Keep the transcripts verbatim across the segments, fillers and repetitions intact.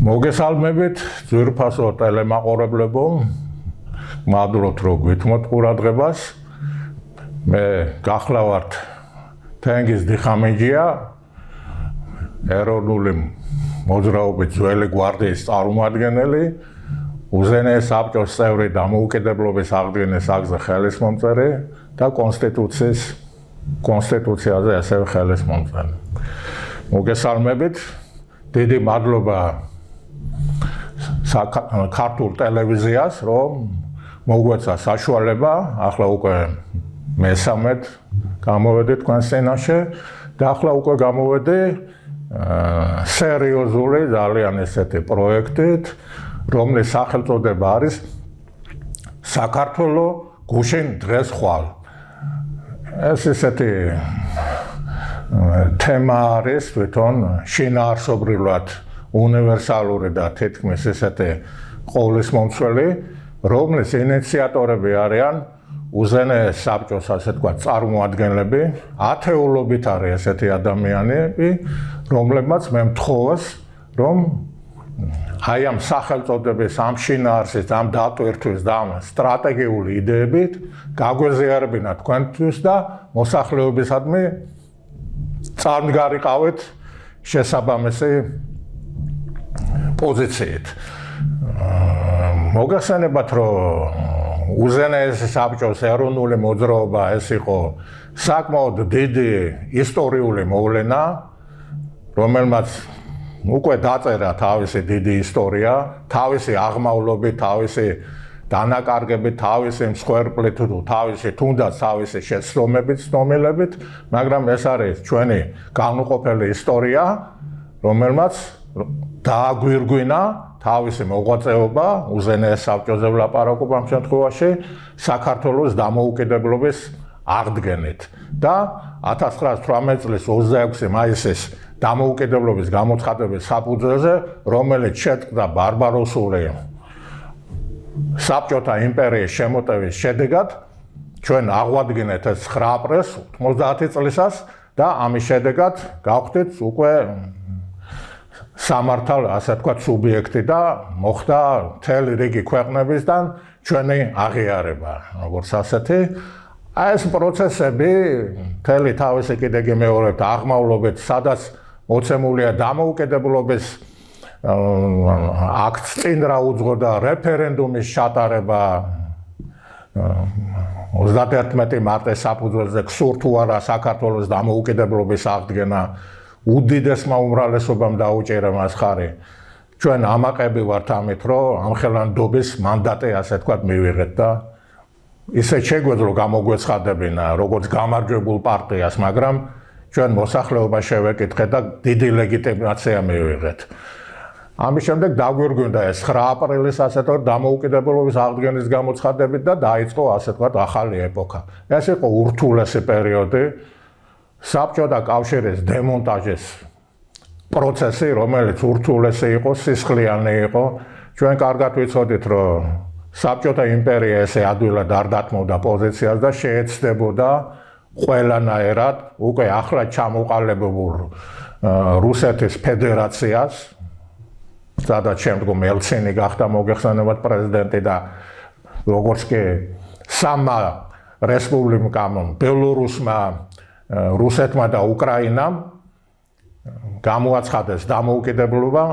მოგესალმებით ძვირფასო ტელემაყურებლებო, მადლობთ რომ გვითმოთ ყურადღებას. მე გახლავართ თენგიზ დიხამეჯია, ეროვნული მოძრაობის ძველი გვარდიის წარმომადგენელი, უზენაეს საბჭოს წევრი დამოუკიდებლობის აღდგენის აკზე ხელისმომწერი და კონსტიტუციის კონსტიტუციაზე ასევე ხელისმომწერი. მოგესალმებით, დიდი მადლობა ქართულ ტელევიზიას, რომ მოგვეცა საშუალება, ახლა უკვე მესამედ გამოვედი თქვენს წინაშე და ახლა უკვე გამოვედი სერიოზული ძალიან ესეთი პროექტით, რომლის სახელწოდება არის საქართველო გუშინ დღეს ხვალ. ეს ესეთი თემა არის თვითონ შინაარსობრივად უნივერსალური და თითქმის ესეთი ყოვლისმომცველი, რომლის ინიციატორები არიან უზენაეს საბჭოს, ასე ვთქვათ, წარმოადგენლები, ათეულობით არის ესეთი ადამიანები, რომლებმაც მე მთხოვეს, რომ აი ამ სახელწოდების, ამ შინაარსის, ამ დატვირთვის და ამ სტრატეგიული იდეებით გაგვეზიარებინა თქვენთვის და მოსახლეობისადმი წარმგარიყავით შესაბამისი პოზიციით. მოგახსენებათ, რომ უზენაეს საბჭოს ეროვნული მოძრაობა ეს იყო საკმაოდ დიდი ისტორიული მოვლენა, რომელმაც უკვე დაწერა თავისი დიდი ისტორია, თავისი აღმავლობით, თავისი დანაკარგებით, თავისი მსხვერპლით, თავისი თუნდაც თავისი შეცდომებით, ცნობილებით, მაგრამ ეს არის ჩვენი განუყოფელი ისტორია, რომელმაც დააგვირგვინა თავისი მოღვაწეობა, უზენაეს საბჭოზე ვლაპარაკობ ამ შემთხვევაში, საქართველოს დამოუკიდებლობის აღდგენით და ათას ცხრაასი თვრამეტი წლის ოცდაექვსი მაისის დამოუკიდებლობის გამოცხადების საფუძველზე, რომელიც შეწყდა ბარბაროსული საბჭოთა იმპერიის შემოტევის შედეგად, ჩვენ აღვადგინეთ ეს ცხრა აპრილს ოცდაათი წლისას და ამის შედეგად გავხდით უკვე სამართალ, ასე ვთქვათ, სუბიექტი და მოხდა მთელი რიგი ქვეყნებისგან ჩვენი აღიარება, როგორც ასეთი. ეს პროცესები მთელი თავისი კიდე გიმეორებთ აღმავლობით, სადაც მოცემულია დამოუკიდებლობის აქტს წინ რა უძღოდა რეფერენდუმის ჩატარება ოცდაათი მარტის საფუძველზე გსურთ თუ არა საქართველოს დამოუკიდებლობის აღდგენა, უდიდესმა უმრავლესობამ დაუჭირა მას ხარი. ჩვენ ამაყები ვართ ამით, რომ ამხელანდობის მანდატი, ასე ვთქვათ, მივიღეთ და ისე შეგვეძლო გამოგვეცხადებინა როგორც გამარჯვებულ პარტიას, მაგრამ ჩვენ მოსახლეობა შევეკითხეთ და დიდი ლეგიტიმაცია მივიღეთ. ამის შემდეგ დაგვირგვინდა ეს ცხრა აპრილის, ასე ვთქვათ, დამოუკიდებლობის აღდგენის გამოცხადებით და დაიწყო, ასე ვთქვათ, ახალი ეპოქა. ეს იყო ურთულესი პერიოდი, საბჭოთა კავშირის დემონტაჟის პროცესი, რომელიც ურთულესი იყო, სისხლიანი იყო. ჩვენ კარგად ვიცოდით, რომ საბჭოთა იმპერია ესე ადვილად არ დათმობდა პოზიციას და შეეცდებოდა ყველანაირად უკვე ახლა ჩამოყალიბებულ რუსეთის ფედერაციას, სადაც შემდგომ ელცინი გახდა მოგეხსენებათ პრეზიდენტი და როგორც კი სამმა რესპუბლიკამ, ბელორუსმა, რუსეთმა და უკრაინამ გამოაცხადეს დამოუკიდებლობა,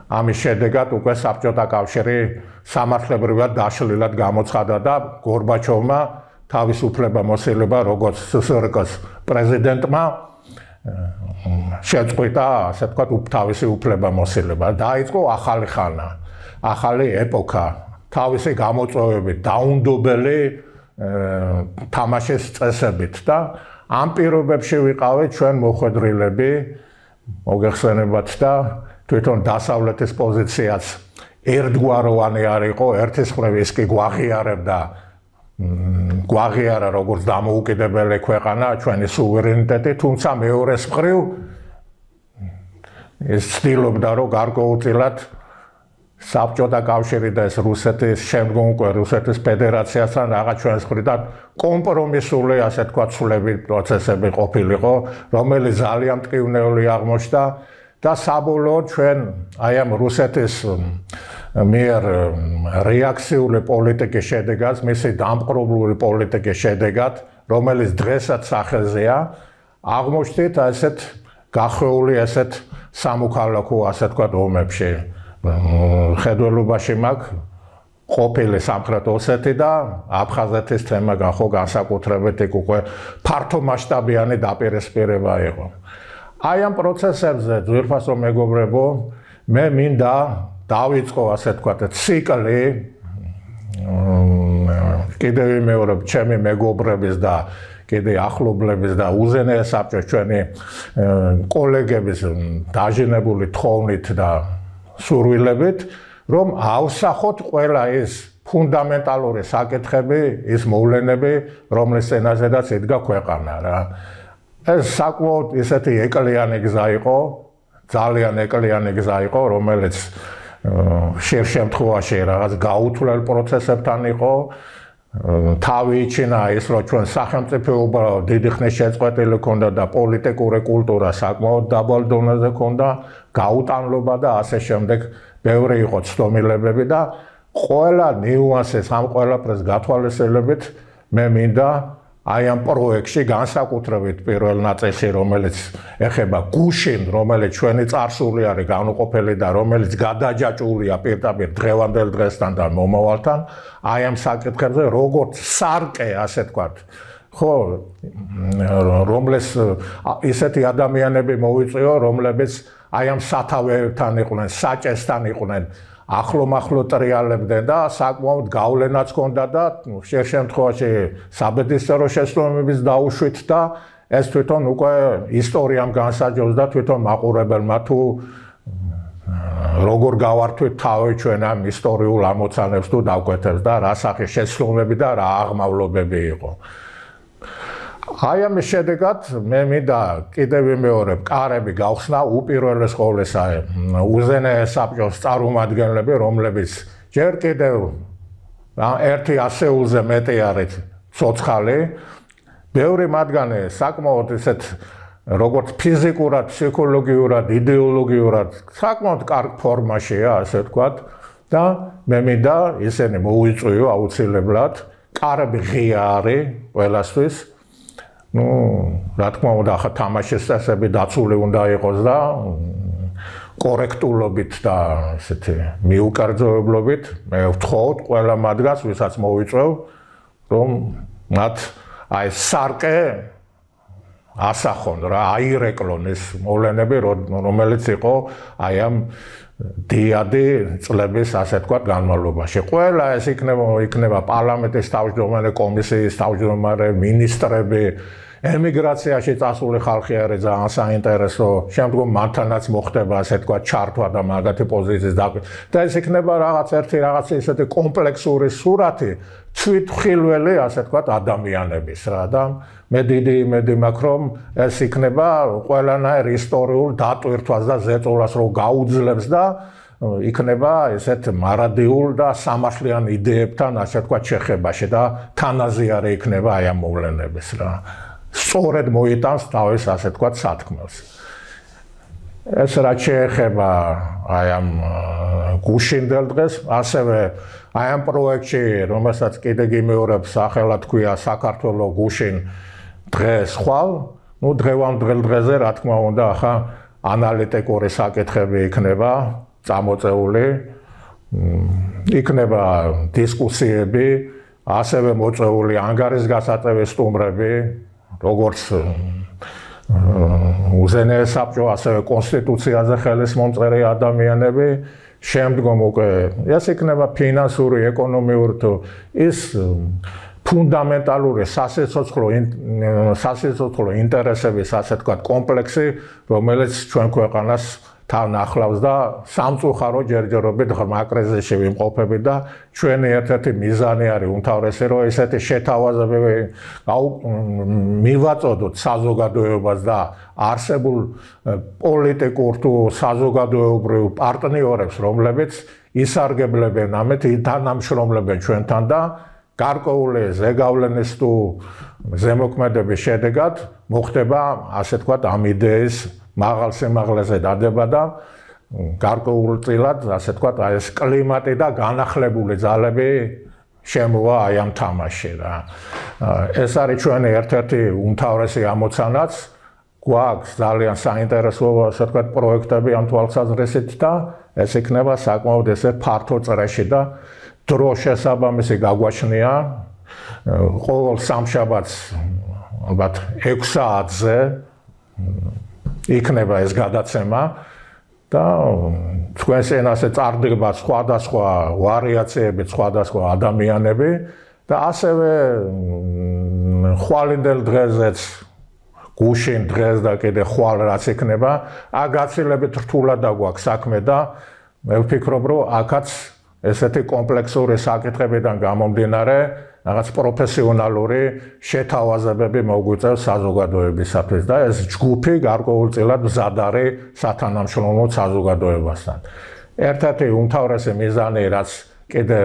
ამის შედეგად უკვე საბჭოთა კავშირი სამართლებრივად დაშლილად გამოცხადა და გორბაჩოვმა თავისუფლება მოსილება როგორც სსრკ-ს პრეზიდენტმა შეწყვიტა, ასე ვთქვათ, თავისი უფლება მოსილება. დაიწყო ახალი ხანა, ახალი ეპოქა, თავისი გამოწვევებით, დაუნდობელი თამაშის წესებით და ამ პირობებში ვიყავით ჩვენ მოხვედრილები, მოგეხსენებათ და თვითონ დასავლეთის პოზიციაც ერთგვაროვანი არ იყო, ერთის მხრივ ის კი გვაღიარებდა, გვაღიარა როგორც დამოუკიდებელი ქვეყანა, ჩვენი სუვერენიტეტი, თუმცა მეორეს მხრივ ის ცდილობდა, რომ გარკვეულწილად საბჭოთა კავშირი და ეს რუსეთის შემდგომ უკვე რუსეთის ფედერაციასთან რაღაც ჩვენს მხრიდან კომპრომისული, ასე ვთქვათ, ცვლები პროცესები ყოფილიყო, რომელიც ძალიან მტკივნეული აღმოჩნდა და საბოლოოდ ჩვენ აი ამ რუსეთის მიერ რეაქციული პოლიტიკის შედეგად, მისი დამპყრობლური პოლიტიკის შედეგად, რომელიც დღესაც სახელზეა, აღმოჩნდით ასეთ გახვეული ასეთ სამოქალაქო, ასე ვთქვათ, ომებში. ხედველობაში მაქვს ყოფილი სამხრეთ ოსეთი და აფხაზეთის თემა გახო განსაკუთრებით იქ უკვე ფართო მასშტაბიანი დაპირისპირება იყო. აი ამ პროცესებზე ძვირფასო მეგობრებო, მე მინდა დავიწყო ასე ვთქვათ ციკლი კიდევ მეორე ჩემი მეგობრების და კიდე ახლობლების და უზენაეს საბჭოს ჩვენი კოლეგების დაჟინებული თხოვნით და სურვილებით, რომ ავსახოთ ყველა ის ფუნდამენტალური საკითხები, ის მოვლენები, რომლის წინაშედაც იდგა ქვეყანა რა. ეს საკმაოდ ისეთი ეკლიანი გზა იყო, ძალიან ეკლიანი გზა იყო, რომელიც შერ შემთხვევაში რაღაც გაუთვლელ პროცესებთან იყო. თავი იჩინა ის, რომ ჩვენ სახელმწიფოობა დიდი ხნის შეწყვეტილი ქონდა და პოლიტიკური კულტურა საკმაოდ დაბალ დონეზე ქონდა, გაუტანლობა და ასე შემდეგ ბევრი იყო ცდომილებები და ყველა ნიუანსის ამ ყველაფერს გათვალისწინებით მე მინდა აი ამ პროექტში განსაკუთრებით პირველ ნაწილში, რომელიც ეხება გუშინ, რომელიც ჩვენი წარსული არის განუყოფელი და რომელიც გადაჯაჭვულია პირდაპირ დღევანდელ დღესთან და მომავალთან, აი ამ საკითხებზე როგორც სარკე, ასე ვთქვათ, ხო, რომლის ისეთი ადამიანები მოვიწვიო, რომლებიც აი ამ სათავეებთან იყვნენ, საჭესთან იყვნენ, ახლო-მახლო ტრიალებდნენ და საკმაოდ გავლენაც ჰქონდა და შერ შემთხვევაში საბედისწერო შესრულების დაუშვით და ეს თვითონ უკვე ისტორიამ განსაჯოს და თვითონ მაყურებელმა თუ როგორ გავართვით თავი ჩვენ ამ ისტორიულ ამოცანებს თუ დავკვეთებს და რა სახის შესრულები და რა აღმავლობები იყო. აი ამის შედეგად მე მინდა კიდევ ვიმეორებ, კარები გავხსნა უპირველეს ყოვლისა უზენაეს საბჭოს წარმომადგენლები, რომლებიც ჯერ კიდევ ერთი ასეულზე მეტი არის ცოცხალი, ბევრი მათგანი საკმაოდ ისეთ როგორც ფიზიკურად, ფსიქოლოგიურად, იდეოლოგიურად საკმაოდ კარგ ფორმაშია, ასე ვთქვათ, და მე მინდა ისინი მოვიწვიო აუცილებლად, კარები ღია არის ყველასთვის. Ну, რა თქმა უნდა, ახლა თამაშის წესები დაცული უნდა იყოს და კორექტულობით და ესეთი მიუკერძოებლობით მე ვთხოვთ ყველა მათგანს, ვისაც მოვიწვევ, რომ მათ აი სარკე ასახონ რა, აირეკლონ ეს მოვლენები, რომელიც იყო აი ამ დიადი წლების, ასე ვთქვათ, განმავლობაში. ყველა ეს იქნება იქნება პარლამენტის თავმჯდომარე, კომისიის თავმჯდომარე, მინისტრები, ემიგრაციაში წასული ხალხი არის ძალიან საინტერესო. შემდგომ მათთანაც მოხდება, ასე ვთქვათ, ჩართვა და მაგათი პოზიციის დაკვეთა. და ეს იქნება რაღაც ერთი რაღაც ისეთი კომპლექსური სურათი თვითმხილველი, ასე ვთქვათ, ადამიანების რა და მე დიდი იმედი მაქვს, რომ ეს იქნება ყველანაირ ისტორიულ დატვირთვას და ზეწოლას რო გაუძლებს და იქნება ესეთ მარადიულ და სამართლიან იდეებთან, ასე ვთქვათ, შეხებაში და თანაზიარე იქნება აი ამ მოვლენების რა. სწორედ მოიტანს თავის, ასე ვთქვათ, სათქმელს. ეს რაც შეეხება აი ამ გუშინდელ დღეს, ასევე აი ამ პროექტში, რომელსაც კიდე გიმეორებ, სახელად ქვია საქართველოს გუშინ დღეს ხვალ, ну დღევანდელ დღეზე რა თქმა უნდა, ახლა ანალიტიკური საკითხები იქნება წამოწეული, იქნება დისკუსიები, ასევე მოწეული ანგარის გასაწევი სტუმრები, როგორც უზენაეს საბჭო, ასევე კონსტიტუციაზე ხელის მომწერი ადამიანები, შემდგომ უკვე ეს იქნება ფინანსური, ეკონომიური თუ ის ფუნდამენტალური სასიცოცხლო სასიცოცხლო ინტერესების, ასე ვთქვათ, კომპლექსი, რომელიც ჩვენ ქვეყანას თან ახლავს და სამწუხარო ჯერჯერობით ღრმა კრიზისში ვიმყოფებით და ჩვენი ერთ-ერთი მიზანი არის უმთავრესი, რომ ესეთი შეთავაზებები მივაწოდოთ საზოგადოებას და არსებულ პოლიტიკურ თუ საზოგადოებრივ პარტნიორებს, რომლებიც ისარგებლებენ ამით, თანამშრომლებენ ჩვენთან და გარკვეული ზეგავლენის თუ ზემოქმედების შედეგად მოხდება ასე თქვათ ამ იდეის მაღალ სიმაღლეზე დადება და გარკვეულწილად ასე თქვათ აი ეს კლიმატი და განახლებული ძალები შემოვა აი ამ თამაში რა. ეს არის ჩვენი ერთ-ერთი უმთავრესი ამოცანაც. გვაქვს ძალიან საინტერესო ასე თქვათ პროექტები ამ თვალსაზრისით და ეს იქნება საკმაოდ ესე ფართო წრეში და დრო შესაბამისი გაგვაჩნია. ყოველ სამშაბათს ალბათ ექვს საათზე იქნება ეს გადაცემა და თქვენს ენაზე წარდგება სხვადასხვა ვარიაციები, სხვადასხვა ადამიანები და ასევე ხვალინდელ დღეზეც გუშინ დღეს და კიდე ხვალ რაც იქნება, აგაცილებით რთულად დაგვაქვს საქმე და მე ვფიქრობ, რომ აქაც ესეთი კომპლექსური საკითხებიდან გამომდინარე რაღაც პროფესიონალური შეთავაზებები მოგვიწევს საზოგადოებისათვის და ეს ჯგუფი გარკვეულწილად მზად არის სათანამშრომლო საზოგადოებასთან. ერთ-ერთი უმთავრესი მიზანი, რაც კიდე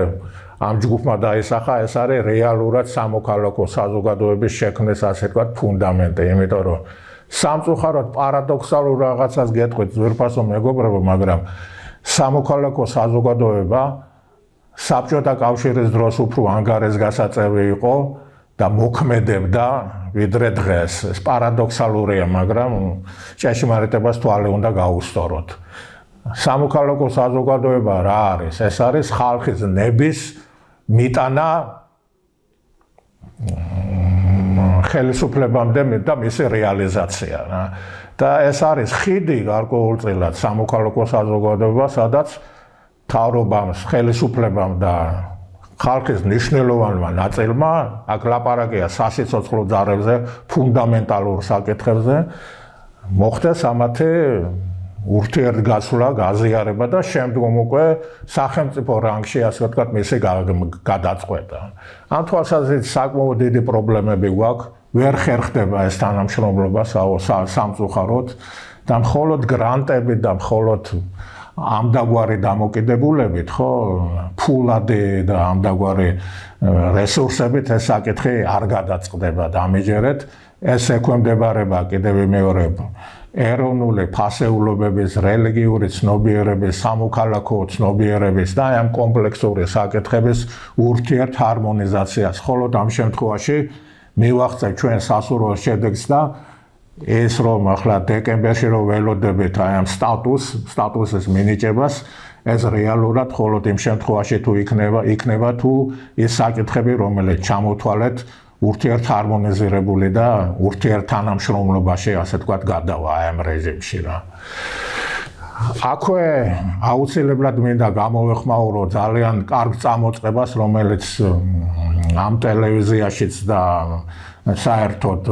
ამ ჯგუფმა დაისახა, ეს არის რეალურად სამოქალაქო საზოგადოების შექმნის ასე თქვათ ფუნდამენტი, იმიტომ რომ სამწუხაროდ პარადოქსალურ რაღაცას გეტყვით ძვირფასო მეგობრებო, მაგრამ სამოქალაქო საზოგადოება საბჭოთა კავშირის დროს უფრო ანგარესგასაწევი იყო და მოქმედებდა ვიდრე დღეს. ეს პარადოქსალურია, მაგრამ ჭეშმარიტებას თვალი უნდა გაუსწოროთ. სამოქალაქო საზოგადოება რა არის? ეს არის ხალხის ნების მიტანა ხელისუფლებამდე და მისი რეალიზაცია რა. და ეს არის ხიდი გარკვეულწილად სამოქალაქო საზოგადოება, სადაც თავრობამ, ხელისუფლებამ და ხალხის მნიშვნელოვანმა ნაწილმა, აქ ლაპარაკია სასიცოცხლო ძალებზე, ფუნდამენტალურ საკითხებზე, მოხდეს ამათი ურთიერთგაცვლა, გაზიარება და შემდგომ უკვე სახელმწიფო რანგში ასე ვთქვათ მისი გადაწყვეტა. ამ თვალსაზრისით საკმაოდ დიდი პრობლემები გვაქვს, ვერ ხერხდება ეს თანამშრომლობა სამწუხაროდ და მხოლოდ გრანტები და მხოლოდ ამდაგვარი დამოკიდებულებით, ხო, ფულადი და ამდაგვარი რესურსებით ეს საკითხი არ გადაწყდება და ამიჯერეთ ეს ექვემდებარება კიდევ მეორე ეროვნული ფასეულობების, რელიგიური ცნობიერების, სამოქალაქო ცნობიერების და ამ კომპლექსური საკითხების ურთიერთ ჰარმონიზაციას. მხოლოდ ამ შემთხვევაში მივახცევ ჩვენ სასურველ შედეგს და ეს რომ ახლა დეკემბერში რომ ველოდებით აი ამ სტატუს, სტატუსის მინიჭებას, ეს რეალურად მხოლოდ იმ შემთხვევაში თუ იქნება, იქნება თუ ის საკითხები, რომელიც ჩამოთვალეთ ურთიერთ ჰარმონიზირებული და ურთიერთ თანამშრომლობაში, ასე თქვათ, გადავა აი ამ რეჟიმში რა. აქვე აუცილებლად მინდა გამოვეხმაურო ძალიან კარგ წამოწყებას, რომელიც ამ ტელევიზიაშიც და საერთოდ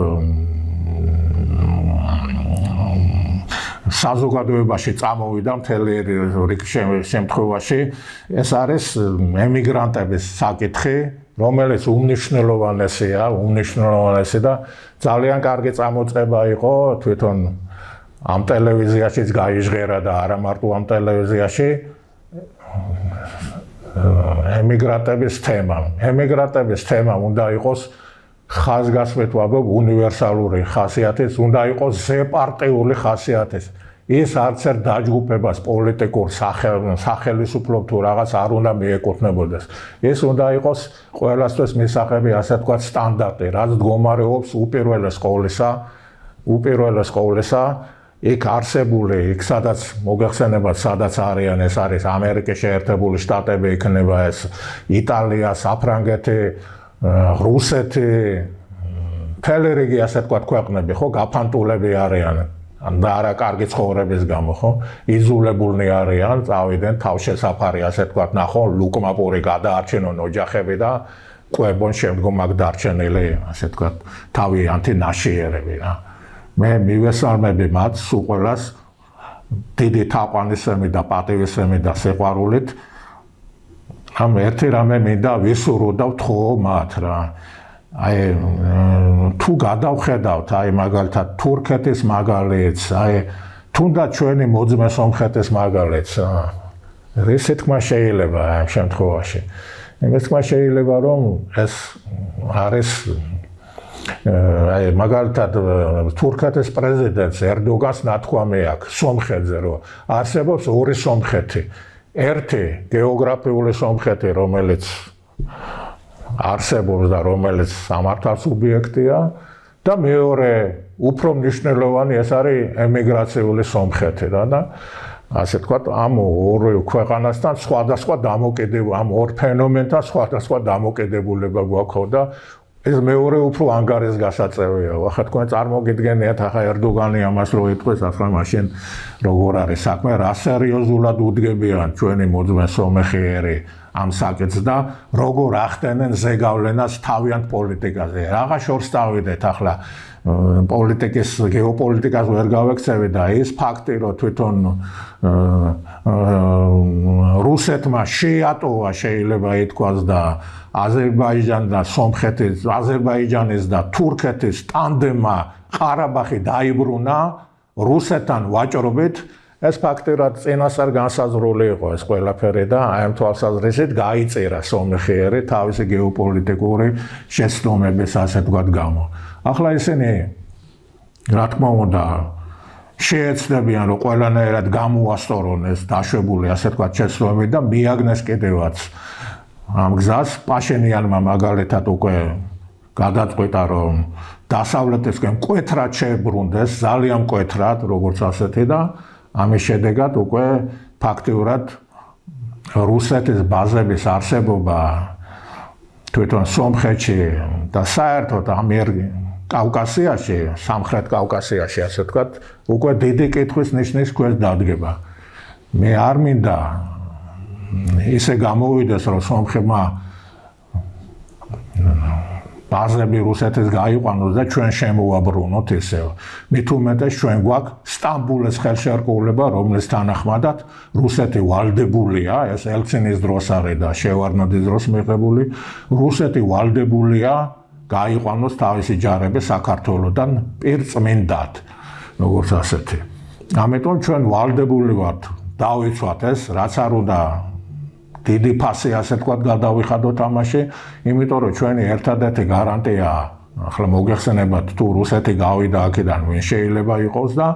საზოგადოებაში წამოვიდა მთელი რიგ შემთხვევაში. ეს არის ემიგრანტების საკითხი, რომელიც უმნიშვნელოვანესია, უმნიშვნელოვანესი და ძალიან კარგი წამოწყება იყო თვითონ ამ ტელევიზიაშიც გაიჟღერა და არა მარტო ამ ტელევიზიაში ემიგრანტების თემა. ემიგრანტების თემა უნდა იყოს ხაზგასმით ვაბობ უნივერსალური ხასიათის, უნდა იყოს ზეპარტიული ხასიათის. ის არც ერთ დაჯგუფებას პოლიტიკურ სახელისუფლო თუ რაღაც არ უნდა მიეკუთვნებოდეს. ის უნდა იყოს ყველასთვის მისაღები, ასე თქვათ, სტანდარტი, რაც მდგომარეობს უპირველეს ყოვლისა, უპირველეს ყოვლისა იქ არსებული, იქ სადაც მოგეხსენებათ, სადაც არიან, ეს არის ამერიკის შეერთებული შტატები, იქნება ეს იტალია, საფრანგეთი, რუსეთი, მთელი რიგი ასე თქვათ ქვეყნები, ხო, გაფანტულები არიან და არა კარგი ცხოვრების გამო, ხო, იზოლებულნი არიან, წავიდნენ თავშესაფარი, ასე თქვათ, ნახონ ლუკმაპური გადაარჩენონ ოჯახები და ყვებონ შემდგომ აქ დარჩენილი, ასე თქვათ, თავიანთი ნაშიერები რა. მე მივესალმები მათ სულ ყველას დიდი თაყვანისმი და პატივისმი და სიყვარულით. ამ ერთი რამე მინდა ვისურვო და ვთხოვო მათ რა. აი თუ გადავხედავთ აი მაგალითად თურქეთის მაგალითს, აი თუნდაც ჩვენი მოძმე სომხეთის მაგალითს, რისი თქმა შეიძლება ამ შემთხვევაში. იმის თქმა შეიძლება რომ ეს არის აი მაგალითად თურქეთის პრეზიდენტს ერდოგანს ნათქვამი აქვს სომხეთზე, რომ არსებობს ორი სომხეთი. ერთი გეოგრაფიული სომხეთი, რომელიც არსებობს და რომელიც სამართალ სუბიექტია და მეორე უფრო მნიშვნელოვანი ეს არის ემიგრაციული სომხეთი რა და ასე ვთქვათ, ამ ორ ქვეყანასთან სხვადასხვა დამოკიდებულება, ამ ორ ფენომენთან სხვადასხვა დამოკიდებულება გვაქვს და ეს მეორე უფრო ანგარისგასაწევია. ახლა თქვენ წარმოგიდგენიათ, ახლა ერდოგანი ამას რო იტყვის, ახლა მაშინ როგორ არის საქმე, რა სერიოზულად უდგებიან ჩვენი მოძმე სომეხიერი ამ საკითხს და როგორ ახდენენ ზეგავლენას თავიანთ პოლიტიკაზე. რაღა შორს დავიდეთ ახლა პოლიტიკის, გეოპოლიტიკას ვერ გავექცევი და ის ფაქტი, რომ თვითონ რუსეთმა შეატოვა შეიძლება ითქვას და აზერბაიჯანს და სომხეთის, აზერბაიჯანის და თურქეთის ტანდემმა ყარაბაღი დაიბრუნა რუსეთთან ვაჭრობით, ეს ფაქტი რა წინასწარ განსაზღვრული იყო ეს ყველაფერი და აი ამ თვალსაზრისით გაიწირა სომეხიერი თავისი გეოპოლიტიკური შეცდომების ასე ვთქვათ გამო. ახლა ისინი რა თქმა უნდა შეეცდებიან რომ ყველანაირად გამოასწორონ ეს დაშვებული ასე ვთქვათ შეცდომები და მიაგნეს კიდევაც ამ გზას პაშენიანმა მაგალითად უკვე გადაწყვიტა რომ დასავლეთისკენ მკვეთრად შეებრუნდეს, ძალიან მკვეთრად, როგორც ასეთი და ამის შედეგად უკვე ფაქტიურად რუსეთის ბაზების არსებობა თვითონ სომხეთში და საერთოდ ამერ კავკასიაში, სამხრეთ კავკასიაში, ასე ვთქვათ, უკვე დიდი კითხვის ნიშნის ქვეშ დადგება. მე არ მინდა ისე გამოვიდეს, რომ სომხებმა ბაზები რუსეთის გაიყვანოს და ჩვენ შემოვაბრუნოთ ისევ. მით უმეტეს ჩვენ გვაქვს სტამბულის ხელშეკრულება, რომლის თანახმადაც რუსეთი ვალდებულია, ეს ელცინის დროს არის და შევარდნაძის დროს მიღებული, რუსეთი ვალდებულია გაიყვანოს თავისი ჯარები საქართველოდან პირწმინდად, როგორც ასეთი. ამიტომ ჩვენ ვალდებული ვართ დავიცვათ ეს, რაც არ უნდა დიდი ფასი ასე ვთქვათ გადავიხადოთ ამაში, იმიტომ რომ ჩვენი ერთადერთი გარანტია, ახლა მოგეხსენებათ თუ რუსეთი გავიდა აქედან ვინ შეიძლება იყოს და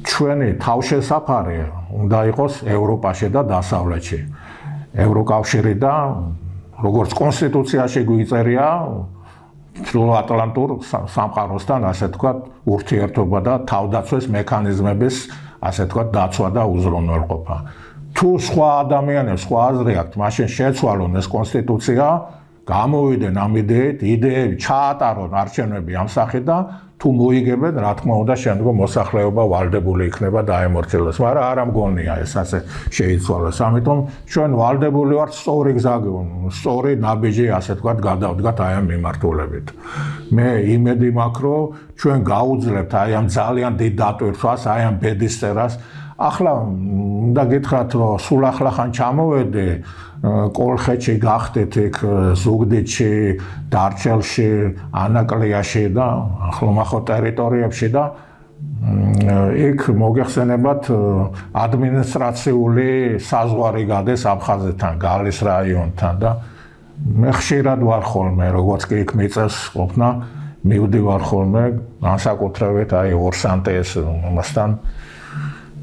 ჩვენი თავშესაფარი უნდა იყოს ევროპაში და დასავლეთში. ევროკავშირი და როგორც კონსტიტუციაში გვიწერია ჩრდილოატლანტურ სამყაროსთან ასე ვთქვათ ურთიერთობა და თავდაცვის მექანიზმების ასე ვთქვათ დაცვა და უზრუნველყოფა. თუ სხვა ადამიანებს სხვა აზრი აქვთ, მაშინ შეცვალონ ეს კონსტიტუცია, გამოვიდნენ ამ იდეით, იდეები ჩაატარონ არჩევნები ამ სახით და თუ მოიგებენ, რა თქმა უნდა, შემდგომ მოსახლეობა ვალდებული იქნება დაემორჩილოს, მაგრამ არ ამგონია ეს ასე შეიცვალოს. ამიტომ ჩვენ ვალდებული ვართ სწორი გზა, სწორი ნაბიჯი ასე ვთქვათ გადავდგათ აი ამ მიმართულებით. მე იმედი მაქვს, რომ ჩვენ გაუძლებთ აი ამ ძალიან დიდ დატვირთვას, აი ამ ბედის წერას. ახლა უნდა გითხრათ, რომ სულ ახლა ხან ჩამოვედი კოლხეთში, გახდით იქ ზუგდიდში, დარჩელში, ანაკლიაში და ახლომახო ტერიტორიებში და იქ მოგეხსენებათ ადმინისტრაციული საზღვარი გადის აფხაზეთთან, გალის რაიონთან და მე ხშირად ვარ ხოლმე, როგორც კი იქ მიწევს ყოფნა, მივდივარ ხოლმე, განსაკუთრებით აი ორსანტეს მასთან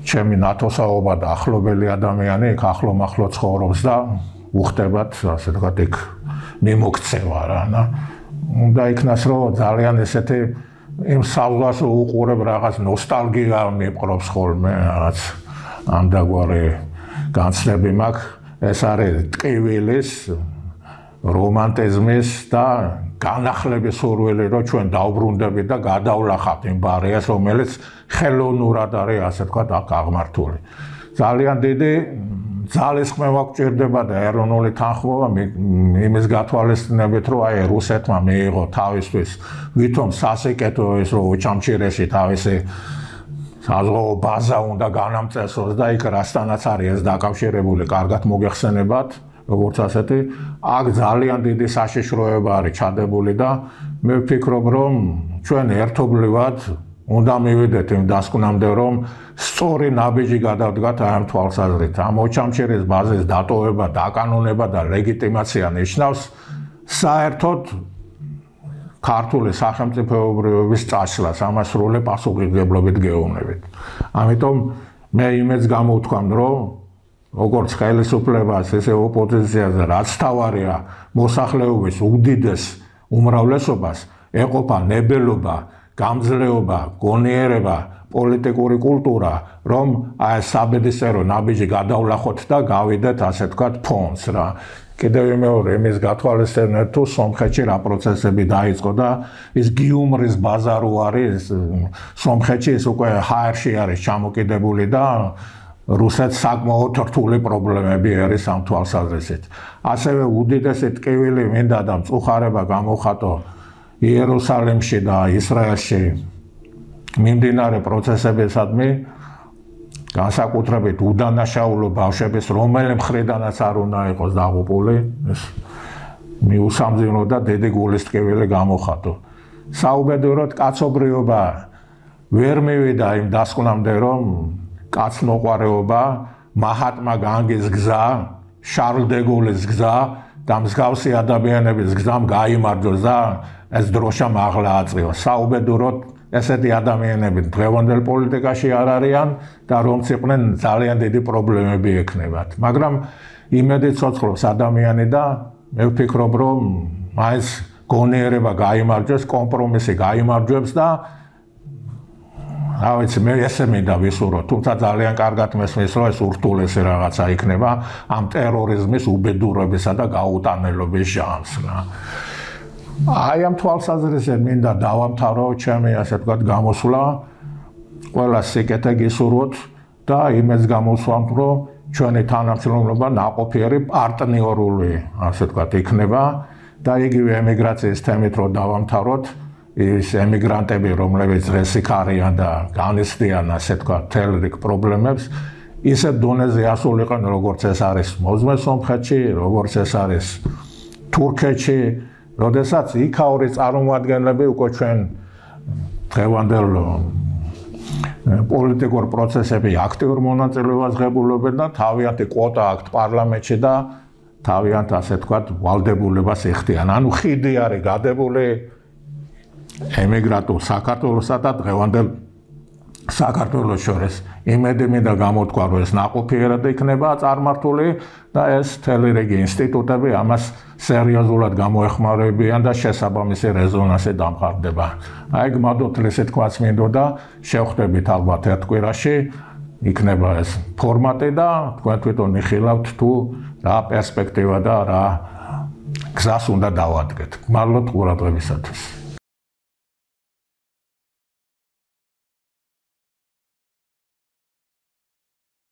ჩემი ნათოსაობა და ახლობელი ადამიანი იქ ახლომახლო ცხოვრობს და უხდებათ, ასე ვთქვათ, იქ მიმოქცევა რა და უნდა იქნას, რომ ძალიან ესეთი იმ საზღვარს უყურებ რაღაც ნოსტალგია მიპყრობს ხოლმე, რაღაც ამდაგვარი განცდები მაქვს, ეს არის ტყივილის, რომანტიზმის და განახლების სურვილი, რომ ჩვენ დავბრუნდებით და გადავლახავთ იმ ბარიერს, რომელიც ხელოვნურად არის, ასე ვთქვათ, აქ აღმართული. ძალიან დიდი ძალისხმევა გვჭირდება და ეროვნული თანხმობა იმის გათვალისწინებით, რომ აი რუსეთმა მიიღო თავისთვის ვითომ სასიკეთო ის რომ ოჩამჩირეში თავისი საზღვაო ბაზა უნდა განამწესოს და იქ რასთანაც არის ეს დაკავშირებული, კარგად მოგეხსენებათ, როგორც ასეთი, აქ ძალიან დიდი საშიშროება არის ჩადებული და მე ვფიქრობ, რომ ჩვენ ერთობლივად უნდა მივიდეთ იმ დასკვნამდე, რომ სწორი ნაბიჯი გადავდგათ აი ამ თვალსაზრისით. ამ ოჩამჩირის ბაზის დატოვება, დაკანონება და ლეგიტიმაცია ნიშნავს საერთოდ ქართული სახელმწიფოებრიობის წაშლას ამას სრული პასუხისმგებლობით გეუბნებით. ამიტომ მე იმედს გამოვთქვამ, რომ როგორც ხელისუფლებას, ესე ოპოზიციაზე რაც თავარია მოსახლეობის უდიდეს უმრავლესობას ეყოფა ნებელობა, გამძლეობა, გონიერება, პოლიტიკური კულტურა, რომ აი საბედისწერო ნაბიჯი გადავლახოთ და გავიდეთ ასე ვთქვათ ფონს რა. კიდევ მეორე იმის გათვალისწინეთ თუ სომხეთში რა პროცესები დაიწყო და ის გიუმრის ბაზარი არის სომხეთში ის უკვე ჰაერში არის ჩამოკიდებული და რუსეთს საკმაოდ რთული პრობლემები არის ამ თვალსაზრისით. ასევე უდიდესი ტკივილი მინდა და მწუხარება გამოხატო იერუსალიმში და ისრაელში მიმდინარე პროცესებისადმი განსაკუთრებით უდანაშაულო ბავშვების რომელი მხრიდანაც არ უნდა იყოს დაღუპული ეს მიუსამძიმრო და დიდი გულის ტკივილი გამოხატო. საუბედუროდ კაცობრიობა ვერ მივიდა იმ დასკვნამდე რომ კაცმოყვარეობა, მაჰატმა განგის გზა, შარლ დე გოლის გზა და მსგავსი ადამიანების გზამ გაიმარჯვოს და ეს დროშა მაღლა აწიოს. საუბედუროდ ესეთი ადამიანები დღევანდელ პოლიტიკაში არ არიან და რომც იყვნენ ძალიან დიდი პრობლემები ექნებათ. მაგრამ იმედი ცოცხლობს ადამიანი და მე ვფიქრობ, რომ მაინც გონიერება გაიმარჯვებს, კომპრომისი გაიმარჯვებს და რა ვიცი, მე ესე მინდა ვისურვო, თუმცა ძალიან კარგად მესმის, რომ ეს ურთულესი რაღაცა იქნება ამ ტერორიზმის უბედურებისა და გაუტანელობის ჟანრს რა. აი ამ თვალსაზრისით მინდა დავამთავრო ჩემი ასე ვთქვათ გამოსვლა. ყველა სიკეთე გისურვოთ და იმედს გამოსვამთ, რომ ჩვენი თანამშრომლობა ნაყოფიერი პარტნიორული ასე ვთქვათ იქნება და იგივე ემიგრაციის თემით რომ დავამთავროთ ის ემიგრანტები, რომლებიც დღეს იქ არიან და განიცდიან ასე ვთქვათ თელ რიგ პრობლემებს, ისეთ დონეზე ასულიყენ, როგორც ეს არის მოზმე სომხეთში, როგორც ეს არის თურქეთში, როდესაც იქაური წარმომადგენლები უკვე ჩვენ დღევანდელ პოლიტიკურ პროცესებში აქტიურ მონაწილეობას ღებულობენ და თავიანთი კვოტა აქვთ პარლამენტში და თავიანთ ასე ვთქვათ ვალდებულებას ეხდიან. ანუ ხიდი არის გადებული ემიგრანტულ საქართველოსა და დღევანდელ საქართველოს შორის. იმედი მინდა გამოთქვა, რომ ეს ნაყოფიერად იქნება წარმართული და ეს მთელი რიგი ინსტიტუტები ამას სერიოზულად გამოეხმარებიან და შესაბამისი რეზონანსი დამყარდება. აი გმადოთ ესე თქვაც მინდოდა, შევხვდებით ალბათ ერთ კვირაში, იქნება ეს ფორმატი და თქვენ თვითონ იხილავთ თუ რა პერსპექტივა და რა გზას უნდა დავადგეთ. გმადლობთ ყურადღებისათვის.